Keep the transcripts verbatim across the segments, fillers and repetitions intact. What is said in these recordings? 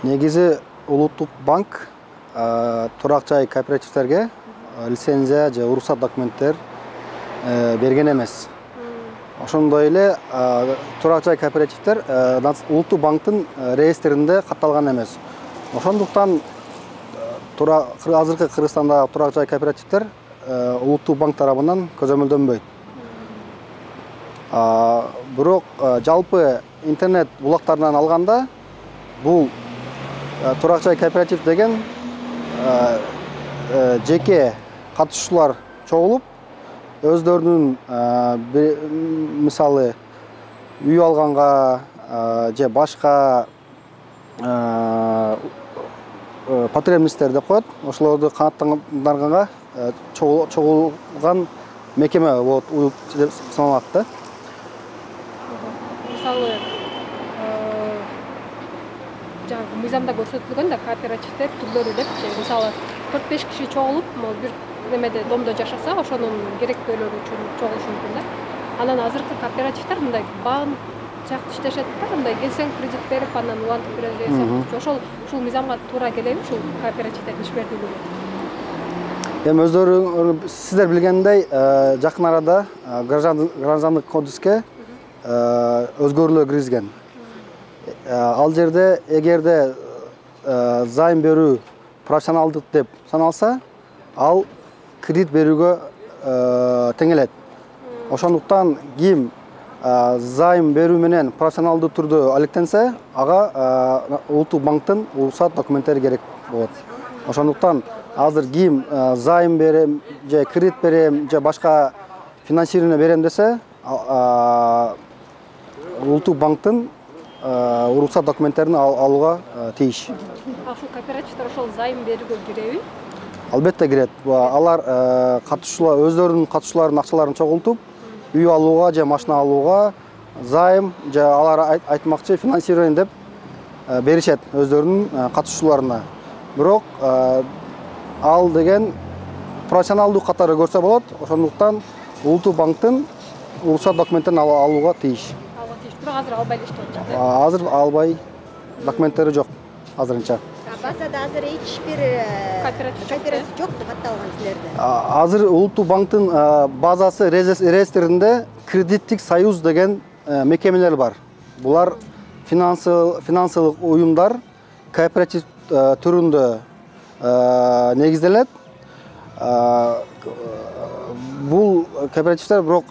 Негизи улуттук банк турак жай кооперативтерге лицензия же уруксат документтер берген эмес. Ошондой эле турак жай кооперативтер улуттук банктын реестринде катталган эмес. Ошондуктан азыркы Кыргызстандагы турак жай кооперативтер улуттук банк тарабынан көзөмөлдөнбөйт. Бирок жалпы интернет булактарынан алганда бул турак жай кооператив деген жеке катышуучулар чогулуп, өздөрүнүн мисалы үй алганга же башка потребностьтер деп коет, ошолорду канааттанганга чогулган мекеме болот деп саналат да. Мисалы жаңы мыйзамда көрсөтүлгөн да кооперативдер түрлөрү депчи, мисалы төрт беш киши чогулуп, бир немеде домдо жашаса, ошонун керектөөлөрү үчүн чогулушу мүмкүн да. Анан азыркы кооперативдер мындай банк сыяктуу иштешет да, мындай келсең кредит берип, анан улантып берет деген сыяктуу. Ошол ушул мыйзамга туура келеби ушул кооперативдердин ишмердүүлүгү? Эми өздөрү сиздер билгендей, жакын арада граждандык кодекске өзгөрүүлөр киргизген. Ал жерде эгерде займ берүү профессионалдык деп саналса, ал кредит берүүгө тең келет. Ошондуктан ким займ берүү менен профессионалдуу түрдө алектенсе, ага улуттук банктын уруксат документтери керек болот. Ошондуктан азыр ким займ берем же кредит берем же башка финансирование берем десе, улуттук банктын уруксат документтерин алууга тийиш. Ушул кооперативдер ошол займ берүүгө киреби? Албетте кирет. Алар катышуулар өздөрүнүн катышууларын акчаларын чогултуп, үй алууга же машина алууга займ же алар айтмакчы финансирование деп беришет өздөрүнүн катышууларына. Бирок ал деген профессионалдуу катары көрсө болот. Ошондуктан улуттук банктын уруксат документтерин алууга тийиш. Алууга тийиш. Бирок азыр албай эле иштеп атышат. Азыр албай, документтери жок азырынча. Базада азыр эч бир кооператив жок катталган силерде. Азыр улуттук банктын базасы реестринде кредиттик союз деген мекемелер бар. Булар финансылык уюмдар кооператив түрүндө негизделет. Бул кооперативдер бирок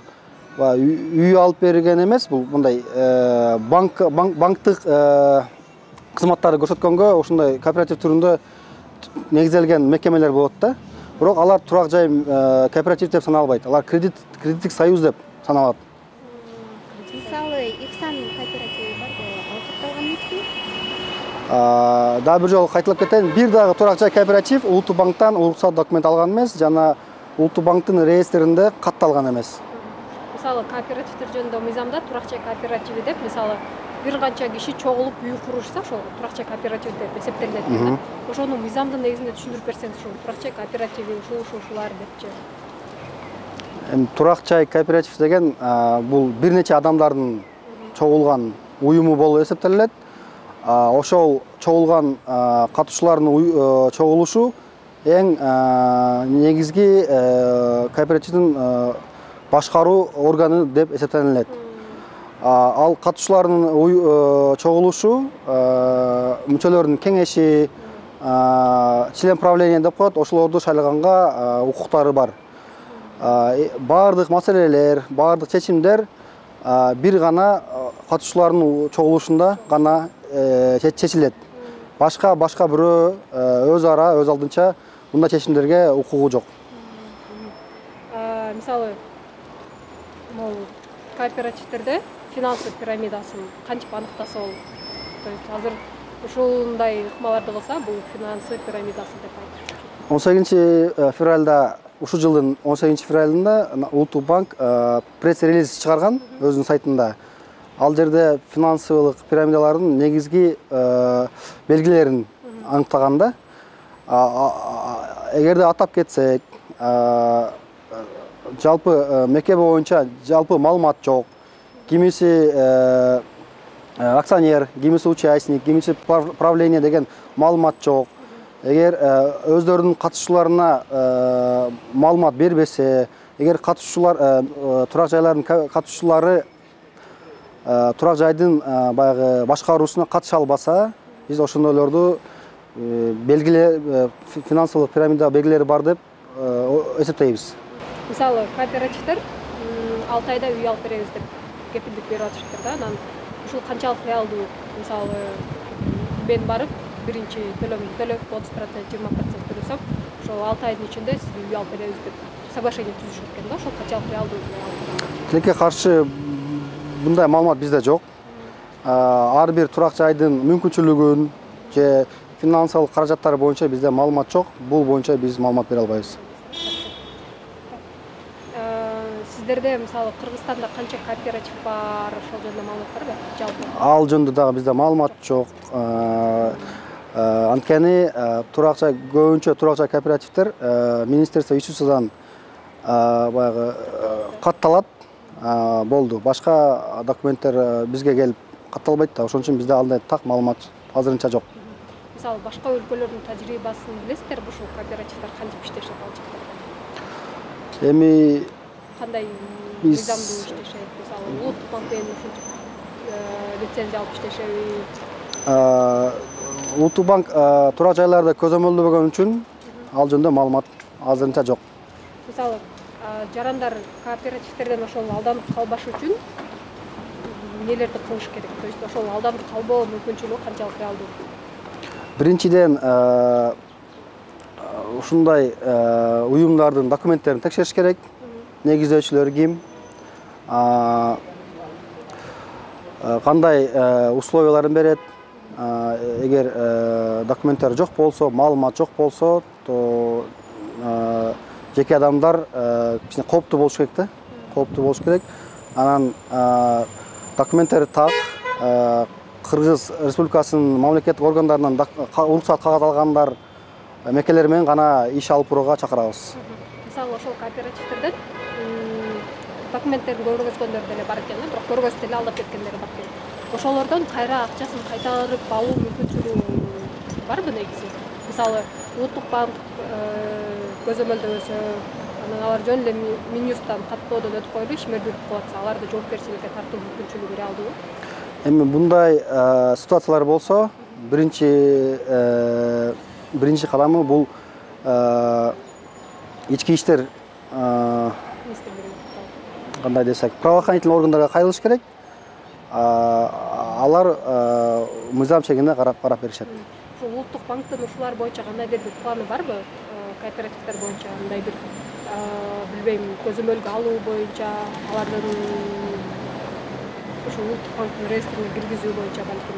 үй алып берген эмес, бул мындай банктык кызматтарды көрсөткөнгө ошондой кооператив түрүндө негизделген мекемелер болот да. Бирок алар турак жай кооператив деп саналбайт. Алар кредиттик союз деп саналат. Мисалы, Иксан кооперативи бар го, ал катталган эмеспи? Дагы бир жолу кайталап кетейин. Бир дагы турак жай кооператив улуттук банктан уруксат документ алган эмес, жана улуттук банктын реестринде катталган эмес. Мисалы, кооперативдер жөнүндө мыйзамда турак жай кооперативи деп, мисалы, бир канча киши чогулуп үй курушса, ошол турак жай кооператив деп эсептелет да. Ошону мыйзамдын негизинде түшүндүрүп берсеңиз, ушул турак жай кооперативи ушул ушулар депчи. Эми турак жай кооператив деген бул бир нече адамдардын чогулган уюму болуп эсептелет. Ошол чогулган катышуулардын чогулушу эң негизги кооперативдин башкаруу органы деп эсептелет. Ал катышуулардын чогулушу, мүчөлөрдүн кеңеши, член правления деп коет, ошолорду шайлаганга укуктары бар. Бардык маселелер, бардык чечимдер бир гана катышуулардын чогулушунда гана чечилет. Башка башка бирөө өз ара, өз алдынча мындай чечимдерге укугу жок. Мисалы, могу кооперативдерде финансылык пирамидасын кантип аныктаса болот? То есть азыр ушундай ыкмаларды кылса, бул финансылык пирамидасы деп айтышат. он сегизинчи февралда, ушул жылдын он сегизинчи февралында улуттук банк пресс-релиз чыгарган өзүнүн сайтында. Ал жерде финансылык пирамидалардын негизги белгилерин аныктаганда, эгерде атап кетсек, жалпы мекеме боюнча жалпы маалымат жок. Кимиси акционер, кимиси участник, кимиси правление деген маалымат жок. Эгер өздөрүнүн катышууларына маалымат бербесе, эгер катышуулар турак жайлардын катышуулары турак жайдын баягы башкаруусуна катыша албаса, биз ошондойлорду белгиле финансылык пирамида белгилери бар деп эсептейбиз. Мисалы, кооперативдер алты айда үй алып беребиз деп кепилдик берип атышыптыр да. Анан ушул канчалык реалдуу? Мисалы, мен барып биринчи төлөмдү төлөп отуз процент, жыйырма процент төлөсөм, ошол алты айдын ичинде сизге үй алып беребиз деп соглашение түзүшүп экен да. Ошол канчалык реалдуу? Тилекке каршы мындай маалымат бизде жок. Ар бир турак жайдын мүмкүнчүлүгүн же финансылык каражаттары боюнча бизде маалымат жок. Бул боюнча биз маалымат бере албайбыз. Сиздерде мисалы Кыргызстанда канча кооператив бар, ошол жөнүндө маалымат барбы? Жалпы. Ал жөнүндө дагы бизде маалымат жок. Анткени турак жай көбүнчө турак жай кооперативдер министерство ИСУСдан баягы катталат. Болду. Башка документтер бизге келип катталбайт да. Ошон үчүн бизде андай так маалымат азырынча жок. Мисалы башка өлкөлөрдүн тажрыйбасын билесиздерби? Ушул кооперативдер кантип иштешет алчыктар? Эми кандай мыйзамдуу иштешет? Мисалы улуттук банк менен ушинтип лицензия алып иштешеби? Улуттук банк турак жайларды көзөмөлдөгөн үчүн ал жөнүндө маалымат азырынча жок. Мисалы жарандар кооперативтерден ошол алданып калбаш үчүн нелерди кылыш керек? То есть ошол алданып калбоо мүмкүнчүлүгү канчалык реалдуу? Биринчиден ушундай уюмдардын документтерин текшериш керек. Негиздөөчүлөр ким? Кандай условияларын берет? Эгер документтер жок болсо, маалымат жок болсо, то жеке адамдар кичине кооптуу болуш керек да. Кооптуу болуш керек. Анан документтери так Кыргыз Республикасынын мамлекеттик органдарынан уруксат кагаз алгандар мекелер менен гана иш алып барууга чакырабыз. Мисалы ошол кооперативтерден документтерин көргөзгөндөр деле бар экен, бирок көргөзүп деле алдап кеткендер бар экен. Ошолордон кайра акчасын кайтарып алуу мүмкүнчүлүгү барбы негизи? Мисалы улуттук банк көзөмөлдөбөсө, анан алар жөн эле Минюсттан каттоодон өтүп коюлуп ишмер бүтүп калатса, аларды жоопкерчиликке тартуу мүмкүнчүлүгү реалдуубу? Эми мындай ситуациялар болсо, биринчи биринчи кадамы бул ички иштер кандай десек, правоохранительный органдарга кайрылыш керек. Алар мыйзам чегинде карап карап беришет. Ушул улуттук банктын ушулар боюнча кандайдыр бир планы барбы? Кооперативдер боюнча мындай бир билбейм, көзөмөлгө алуу боюнча, алардын ушул улуттук банктын реестрине киргизүү боюнча балким.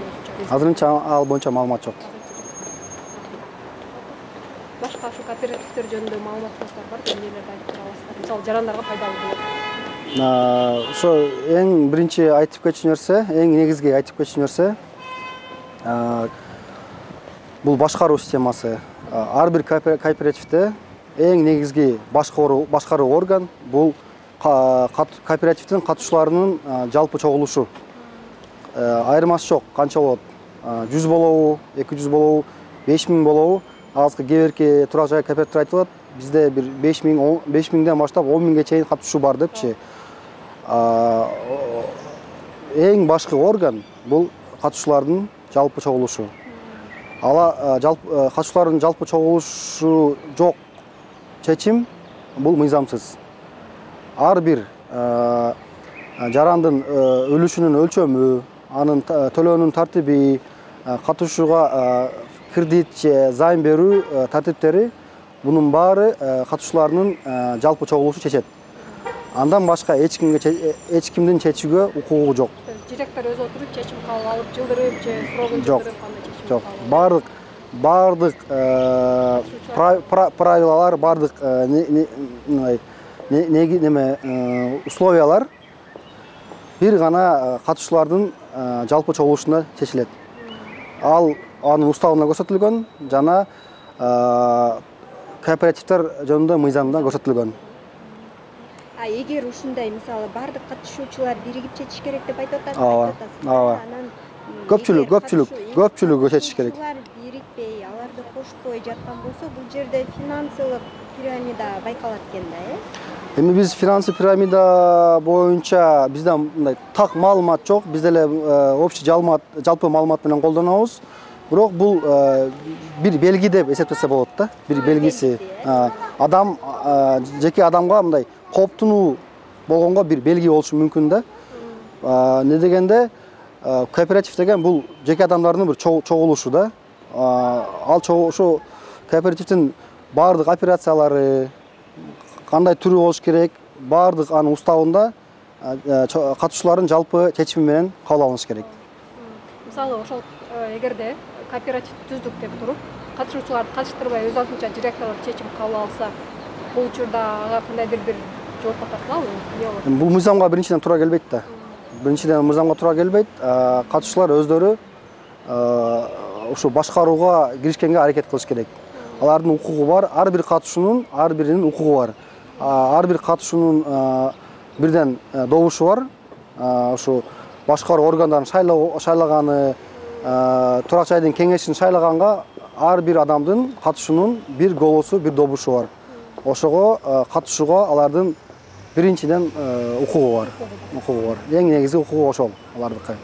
Азырынча ал боюнча маалымат жок. Башка ушу кооперативдер жөнүндө маалыматыңыздар барбы? Эмнелерди айтып бере аласыздар? Мисалы жарандарга пайдалуу болот. Ошо эң биринчи айтып кетчү нерсе, эң негизги айтып кетчү нерсе бул башкаруу системасы. Ар бир кооперативде эң негизги башкаруу орган бул кооперативдин катышууларынын жалпы чогулушу. Айырмасы жок, канча болот? жүз болобу, эки жүз болобу, беш миң болобу? Азыркы кээ бирки турак жай кооперативдер айтып атат, бизде бир беш миңден баштап он миңге чейин катышуу бар депчи. Эң башкы орган бул катышуулардын жалпы чогулушу. Ала жалпы катышуулардын жалпы чогулушу жок чечим бул мыйзамсыз. Ар бир жарандын үлүшүнүн өлчөмү, анын төлөөнүн тартиби, катышууга кредит же займ берүү тартиптери, бунун баары катышуулардын жалпы чогулушу чечет. Андан башка эч кимге эч кимдин чечүүгө укугу жок. Директор өзү отуруп чечим кабыл алып жылдырып же срогун жылдырып кандай чечим? Жок. Бардык бардык правилалар, бардык неме условиялар бир гана катышуулардын жалпы чогулушунда чечилет. Ал анын уставында көрсөтүлгөн жана кооперативдер жөнүндө мыйзамда көрсөтүлгөн. А эгер ушундай мисалы бардык катышуучулар биригип чечиш керек деп айтып атасыз, ооба, ооба. Анан көпчүлүк көпчүлүк көпчүлүгү чечиш керек. Катышуучулар бирикпей, аларды кошпой жаткан болсо, бул жерде финансылык пирамида байкалат экен да, э? Эми биз финансы пирамида боюнча бизде мындай так маалымат жок. Биз деле общий жалпы маалымат менен колдонобуз. Бирок бул бир белги деп эсептесе болот да. Бир белгиси. Адам жеке адамга мындай кооптунуу болгонго бир белги болушу мүмкүн да. Не дегенде кооператив деген бул жеке адамдардын бир чогулушу да. Ал ошо кооперативдин баардык операциялары кандай түрү болуш керек, баардык анын уставында катышуулардын жалпы чечими менен кабыл алыныш керек. Мисалы, ошол эгерде кооператив түздүк деп туруп, катышуучуларды катыштырбай өз алдынча директорлор чечим кабыл алса, бул учурда ага кандайдыр бир жооп тартылабы? Эмне болот? Бул мыйзамга биринчиден туура келбейт да. Биринчиден мыйзамга туура келбейт. Катышуулар өздөрү ушу башкарууга киришкенге аракет кылыш керек. Алардын укугу бар, ар бир катышуунун ар биринин укугу бар. Ар бир катышуунун бирден добушу бар. Ушу башкаруу органдарын шайлаганы, турак жайдын кеңешин шайлаганга ар бир адамдын катышуунун бир голосу, бир добушу бар. Ошого катышууга алардын биринчиден укугу бар. Укугу бар. Эң негизги укугу ошол алардыкы.